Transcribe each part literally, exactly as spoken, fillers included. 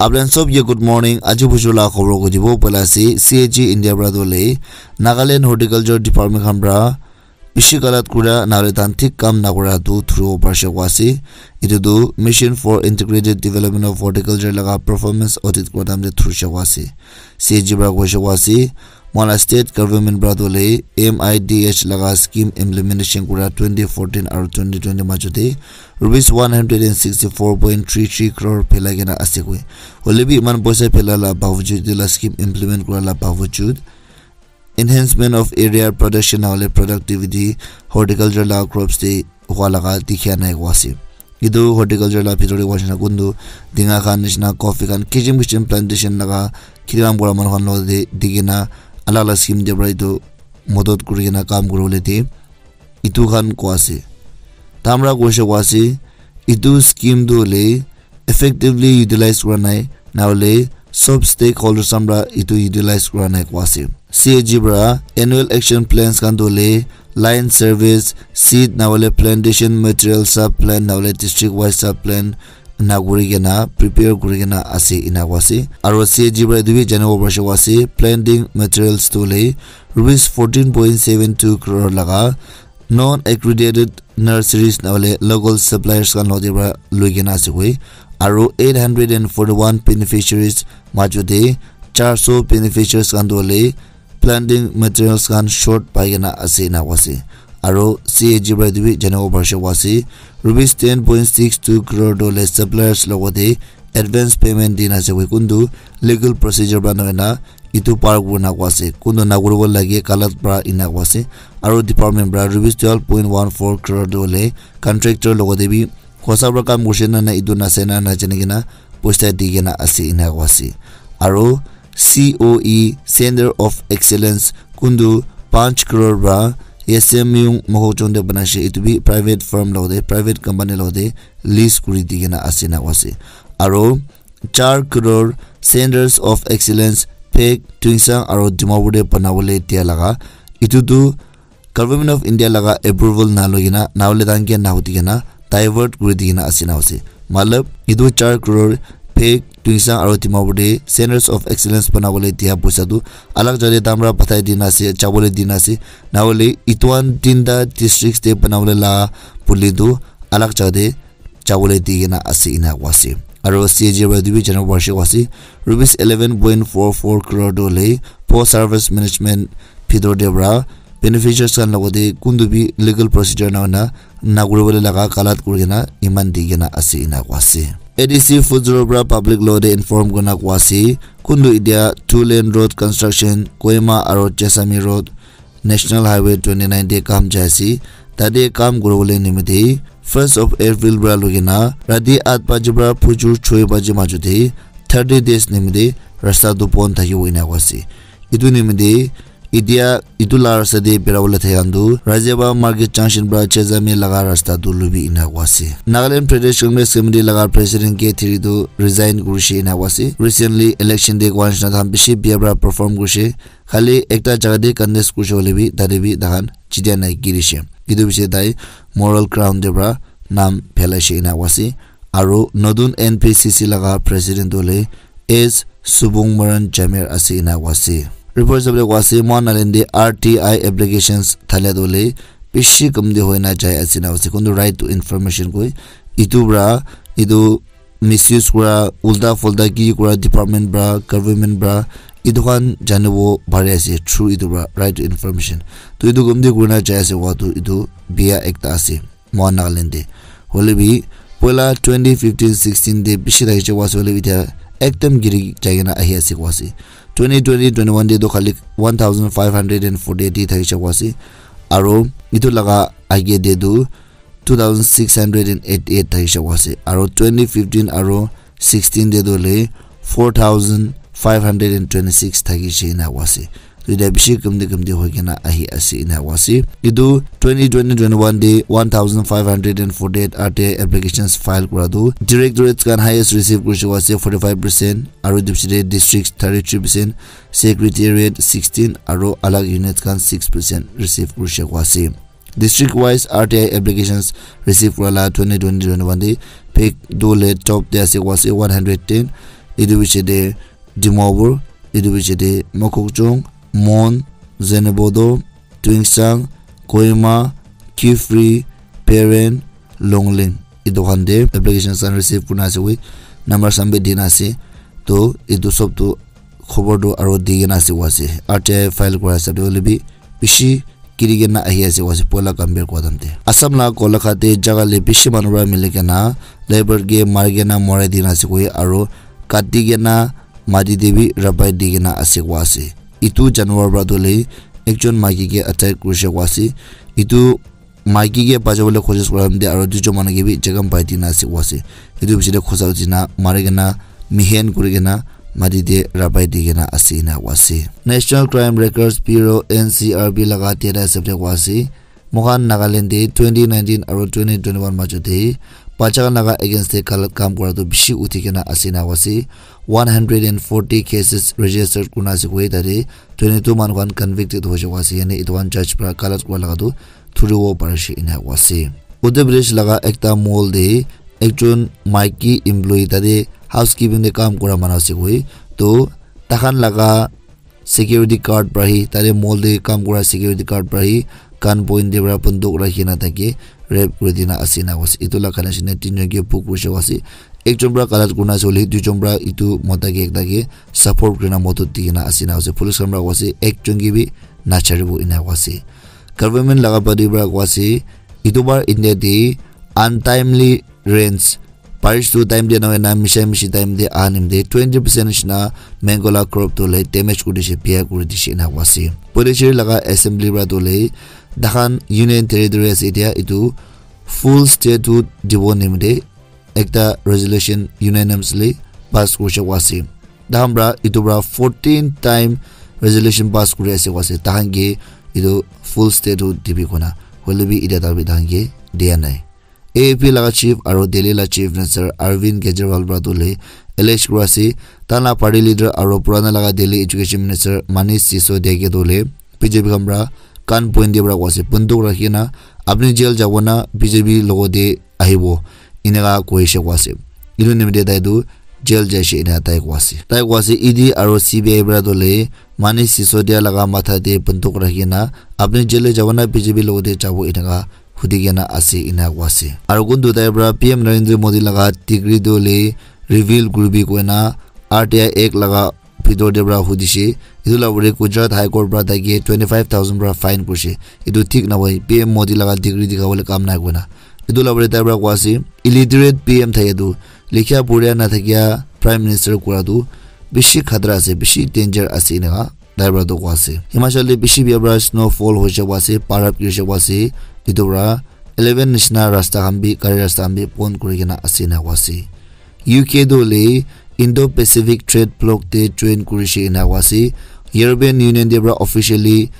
Aplan sob ye good morning. Aji bujur la khobor ko dibo pala ase C A G India pra dole Nagaland Horticulture Department khan pra bishi galat kura nale tan thik kam na kura tu thuru parshe ko ase. Itu tu Mission for Integrated Development of Horticulture laga performance audit ko tam de thuru she ko ase. C A G pra ko she ko ase. Moila state government pra dole M I D H laga scheme implementation kura twenty fourteen aru twenty twenty majo te rupees one hundred and sixty four point three three crore phelai kena ase koi. Hoile bi iman poisa phelai la bawajud, etu la scheme implement kura la bawajud, enhancement of area production na hole productivity horticulture la crops te hua laga dikhia nai ko ase. Etu horticulture la bhitor te hoishe na kuntu dinga khan nishina coffee khan kichim kichim plantation laga khiti kam kura manu khan lo de dikhi na alak alak scheme te pra etu modot kuri kena kam kuri bole de etu khan ko ase. Tamra ko she ko ase, etu scheme tu hoile effectively utilize kura nai, na hole sob stakeholders khan pra etu utilize kura nai ko ase. C A G pra annual action plans khan tu hoile line service, seed na hole plantation material sub plan na hole district wise sub plan na kuri kena prepare kuri kena ase ena ko ase. Aro C A G pra etu bi janibo parishe ko ase, planting materials tu hoile rupees fourteen point seven two crore laga non accredited nurseries na hole local suppliers khan lo te pra loi kena ase koi. Aro eight hundred and forty one beneficiaries majo te char so beneficiaries khan tu hoile planting materials khan short pai kena ase ena ko ase. Aro C A G pra etu bi janibo parishe ko ase, rupees ten point six two crore tu hoile suppliers logote advance payment dina ase koi, kuntu legal procedure pra nohoi na etu par kurina ko ase, kuntu nakuribo lage galat pra ena ko ase. Aro department pra rupees twelve point one four crore tu hoile contractor logote bi kosa pra kam kurishe na na etu nase na na jani kena poisa di kena ase ena ko ase. Aro C O E Center of Excellence kuntu panch crore pra S M U Mohokchung te banaishe, etu bi private firm logote, private company logote lease kuri di kena ase na ko ase. Aro char crore Centers of Excellence Phek, Tuensang aro Dimapur te banabole dia laga etu tu Government of India laga approval na loi kena, na hole tan ke na hoti kena divert kuri di kena ase na ase. Matlab, etu char crore Phek, Tuensang aro Dimapur te Centers of Excellence banabole dia poisa tu alag jaga te tamra pathai dina ase, jabole dina ase. Na hole etu khan tinta districts te banabole la puli tu alag jaga te jabole di kena ase ena ko ase. Aro C A G pra etu bi janibo parishe ko ase, rupees eleven point four four crore tu hoile post harvest management bhitor te pra beneficiaries khan logote kuntu bi legal procedure na hoi na nakuri bole laga galat kuri kena eman di kena ase ena ko ase. A D C Food Bureau pra public logote inform kurina ko ase, kuntu etia two lane road construction Kohima aro Jessami road National Highway twenty nine te kam jai ase. Tate kam kuribole nimite first of April pra loi kena rati aat baji pra phujur choi baji majo te thirty days nimite rasta tu bon thakibo ena ko ase. Etu nimite etia etu la rasta te bera bole thai khan tu Rajiaba Market Junction pra Jessami laga rasta tu lubi ena ko ase. Nagaland Pradesh Congress Committee laga president K Thiri tu resign kurishe ena ko ase. Recently election te koa nishina tahan bishi bia pra perform kurishe. Khali ekta jaga te contest kurishe hoile bi tate bi tahan jitia nai girishe. Etu piche tai moral ground te pra nam phelaishe ena ko ase. Aro notun N P C C laga president tu hoile S Subung Maran Jamir ase ena ko ase. Report sabole ko ase, mohan Nagaland te R T I applications thalia tu hoile bishi kam te hoi na jai ase ena ko ase. Kuntu right to information koi etu pra etu misuse kura, ulta fulta ki kura department pra, government pra, etu khan janibo pari ase through etu pra right to information. To etu gomti kurina jai ase koa tu etu bia ekta ase mohan Nagaland te. Hoile bi poila twenty fifteen sixteen te bishi thakishe koa ase, hoile bi etia ekdam giri jai kena ahi ase koa ase. Twenty twenty twenty one te to khali one thousand five hundred and forty eight thakishe koa ase. Aro etu laga age te tu two thousand six hundred and eighty eight thakishe koa ase. Aro twenty fifteen aro sixteen te tu hoile four thousand five hundred and twenty six thakishe ena koa ase. To etia bishi kamti kamti hoi kena ahi ase ena koa ase. Etu twenty twenty twenty one te one thousand five hundred and forty eight R T I applications file kura tu directorates khan highest receive kurishe koa ase forty five percent, aro etu piche te districts thirty three percent, secretariat sixteen, aro alag units khan six percent receive kurishe koa ase. District wise R T I applications receive kura la twenty twenty twenty one te Phek tu hoile top te ase koa ase one hundred ten, Etu piche te Dimapur, etu piche te Mokokchung, Mon, Zunheboto, Tuensang, Kohima, Kiphire, Peren, Longleng. Etu khan te application khan receive kurina ase koi, number khan bi dina ase. To etu sob tu khobor tu aro di kena ase koa ase. R T I file kura hisab te hoile bi bishi kiri kena ahi ase koa ase, poila compare kura time te. Assam la Golaghat te jaga le bishi manu para mili kena leopard ke mari kena morai dina ase koi, aro kati kena mati te bi rapai di kena ase koa ase. Etu janwar para tu hoile ekjon maiki ke attack kurishe koa ase. Etu maiki ke bachawole koshish kura time te aro duijon manu ke bi jakham pai dina ase koa ase. Etu piche te khosa uthi na mari kena mihen kuri kena mati te rapai di kena ase ena koa ase. National Crime Records Bureau, N C R B, laga data hisab te koa ase, moikhan Nagaland te twenty nineteen aro twenty twenty-one majo te bacha khan laga against te galat kam kura tu bishi uthi kena ase ena koa ase. One hundred and forty cases registered kurina ase koi, tate twenty-two manu khan convicted hoishe koa ase, yani etu khan judge para galat kura laga tu thuribo parishe ena koa ase. Uttar Pradesh laga ekta mall te ekjon maiki employee tate housekeeping te kam kura manu ase koi, to takhan laga security guard para hi, tate mall te kam kura security guard para hi gun point te para banduk rakhi na tai ke rape kuri dina ase ena koa ase. Etu laga connection te tinjon ke book kurishe koa ase. Ekjon para galat kurina ase hoile duijon para etu mota ke ekta ke support kurina modot di kena ase ena koa ase. Police khan para koa ase ekjon ke bi nacharibo ena koa ase. Government laga body para koa ase etu bar India te untimely rains, barish tu time te nahoi na misha mishi time te aha nimite twenty percent nishina mango la crop tu hoile damage kuri dishe, biya kuri dishe ena koa ase. Puducherry laga assembly para tu hoile takhan union territory ase, etia etu full statehood dibo nimite ekta resolution unanimously pass kurishe koa ase. Takhan para etu para fourteen time resolution pass kuri ase koa ase, takhan ke etu full statehood dibi kona, hoile bi etia tak bi takhan ke dia nai. A A P laga chief aro Delhi la chief minister Arvind Kejriwal para tu hoile allege kura ase, tai la party leader aro purana laga Delhi education minister Manish Sisodia ke tu hoile B J P khan para gun point te para koa ase, banduk rakhi na apni jail jabo na B J P logote ahibo, eneka koishe koa ase. Etu nimite tai tu jail jaishe ena tai koa ase. Tai koa ase E D aro C B I para tu hoile Manish Sisodia laga matha te banduk rakhi na apni jail te jabo na B J P logote jabo eneka hudi kena ase ena koa ase. Aro kuntu tai para P M Narendra Modi laga degree tu hoile reveal kuribi koina R T I Act laga bhitor te para hudishe. Etu la upor te Gujarat High Court para tai ke twenty five thousand para fine kurishe. Etu thik nahoi, P M Modi laga degree dikha bole kam nai koina. Etu la upor te tai para koa ase illiterate P M thake tu, likha poria na thakia prime minister kura tu bishi khatra ase, bishi danger ase eneka tai para tu koa ase. Himachal te bishi bia para snowfall hoishe koa ase, barap girishe koa ase, etu para eleven nishina rasta khan bi, gari rasta khan bi bon kuri kena ase ena koa ase. U K tu hoile Indo-Pacific Trade Bloc te join kurishe ena koa ase. European Union te para officially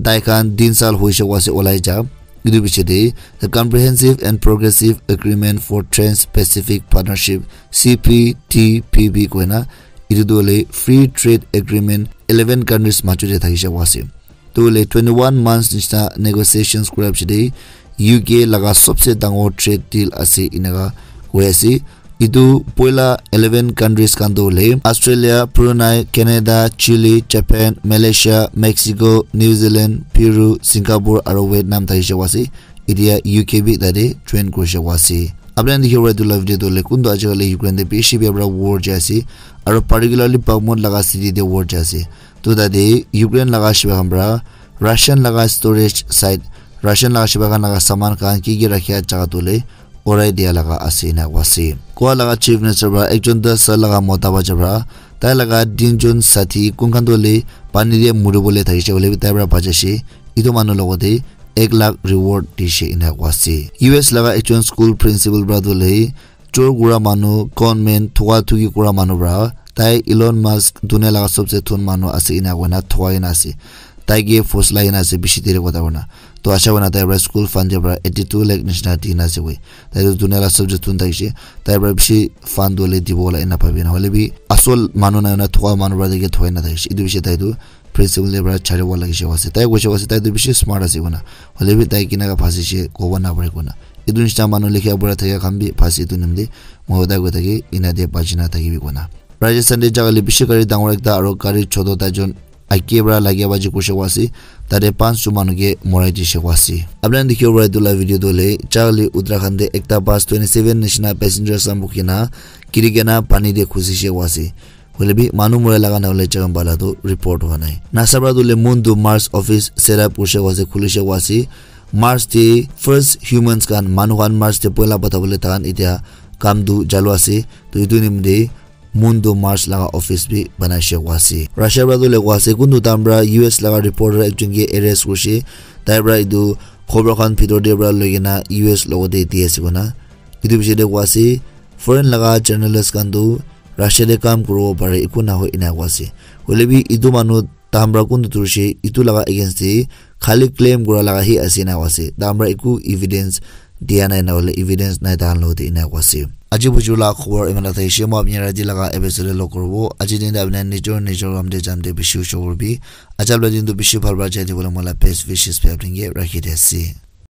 tai khan tin saal hoishe koa ase olai ja. Etu piche te the Comprehensive and Progressive Agreement for Trans-Pacific Partnership, C P T P P koina, etu tu hoile free trade agreement eleven countries majo te thakishe koa ase. Tu hoile twenty-one months nishina negotiations kura piche te U K laga sobse dangor trade deal ase eneka koi ase. Etu poila eleven countries khan tu hoile Australia, Brunei, Canada, Chile, Japan, Malaysia, Mexico, New Zealand, Peru, Singapore aro Vietnam thakishe koa ase. Etia U K bi tate join kurishe koa ase. Apni khan dikhibo etu la video tu hoile kuntu ajikali Ukraine te bishi bia para war jai ase, aro particularly Bakhmut laga city te war jai ase. Tu tate Ukraine laga shiba khan para Russian laga storage site, Russian laga shiba khan laga saman khan ki ki rakhia jaga tu hoile urai dia laga ase ena koa ase. Goa laga chief minister para ekjon das saal laga mota bacha para tai laga tinjon sathi kun khan tu hoile pani te muri bole thakishe hoile bi tai para bachashe. Etu manu logote ek lakh reward dishe ena koa ase. U S laga ekjon school principal para tu hoile chor kura manu, gunmen, thuka thuki kura manu para tai Elon Musk dunia laga sobse thun manu ase ena koina thukai kena ase. Tai ke fosla kena ase bishi deri kotha kurina. To acha kurina tai para school fund te para eighty two lakh nishina dina ase koi. Tai tu dunia laga sobse thun thakishe. Tai para bishi fund tu hoile dibo la ena bhabi na. Hoile bi asol manu nai na thuka manu para tai ke thukai na thakishe. Etu piche tai tu principal te para charibo lagishe koa ase. Tai koishe koa ase tai tu bishi smart ase koina. Hoile bi tai kineka phasishe kobo na pare koina. Etu nishina manu likha pura thaka khan bi phasi etu nimite moi hodai koi thake ena te bachi na thakibi koina. Rajasthan te jagale bishi gari dangor ekta aro gari choto taijon ake para lagia baji kurishe koa ase. Tate panch jon manu ke morai dishe koa ase. Apni khan dikhibo para etu la video tu hoile jagale Uttarakhand te ekta bus twenty seven nishina passengers khan bukhi na giri kena pani te khusishe koa ase. Hoile bi manu morai laga na hoile jaga bala tu report hua nai. NASA para tu hoile moon to Mars office set up kurishe koa ase, khulishe koa ase. Mars te first humans khan, manu khan Mars te poila patha bole tahan etia kam tu chalu ase. To etu nimite moon to Mars laga office bi banaishe koa ase. Russia para tu hoile koa ase kuntu time para U S laga reporter ekjon ke arrest kurishe. Tai para etu khobor khan bhitor te para loi kena U S logote di ase koina. Etu bishi te koa ase foreign laga journalist khan tu Russia te kam kuribo pare, eku nahoi ena koa ase. Hoile bi etu manu tahan para kuntu turishe etu laga against te khali claim kura laga hi ase ena koa ase. Tahan para eku evidence dia nai, na hoile evidence nai tahan logote ena koa ase. Aji buju la khobor iman ta thaishe. Moi apni khan rati laga episode te log kuribo. Aji din te apni khan nijor nijor kam te jam te bishi usho kuribi. Aji la din tu bishi bhal para jai dibole moi la best wishes bi apni khan ke rakhi di ase.